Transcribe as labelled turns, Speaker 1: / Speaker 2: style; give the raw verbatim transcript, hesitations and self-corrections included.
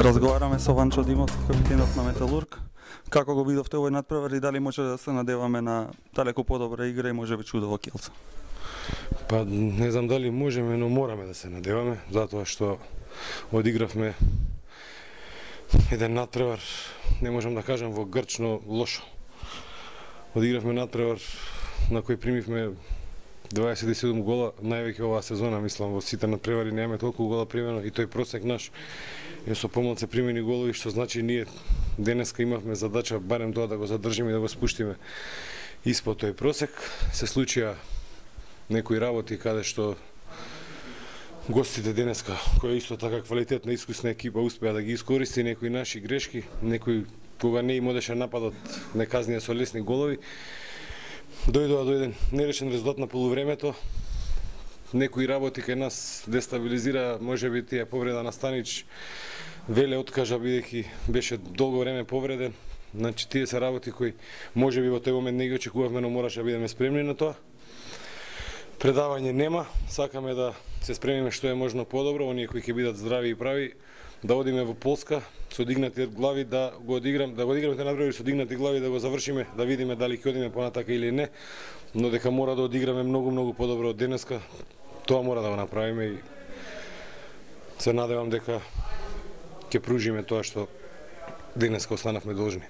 Speaker 1: Разговараме со Ванчо Димовски, капитенот на Металург. Како го видовте овој надпревар и дали може да се надеваме на далеку подобра игра и можеби чудо во Килца?
Speaker 2: Па не знам дали можеме, но мораме да се надеваме, затоа што одигравме еден надпревар, не можам да кажам во грчно лошо. Одигравме надпревар на кој примивме дваесет и седум гола, највеќе оваа сезона, мислам, во сите надпревари немаме толку гола примено и тој просек наш е со помалце примени голови, што значи ние денеска имавме задача барем тоа да го задржиме и да го спуштиме испод тој просек. Се случија некои работи каде што гостите денеска, која исто така квалитетна искусна екипа, успеа да ги искористи некои наши грешки, некои кога не им одеше нападот, не казнија со лесни голови. Дојдоа до еден нерешен резултат на полувремето. Некои работи кај нас дестабилизира, можеби тие повреда на Станич, Веле откажа бидејќи беше долго време повреден. Значи тие се работи кои можеби во тој момент не ги очекувавме, но мораше да бидеме спремни на тоа. Предавање нема, сакаме да се спремиме што е можно подобро, оние кои ќе бидат здрави и прави, да одиме во Полска со дигнати глави, да го одиграм, да го одиграме те надпревари со дигнати глави, да го завршиме, да видиме дали ќе одиме понатака или не, но дека мора да одиграме многу многу подобро од денеска, тоа мора да го направиме и се надевам дека ќе пружиме тоа што денеска останавме должни.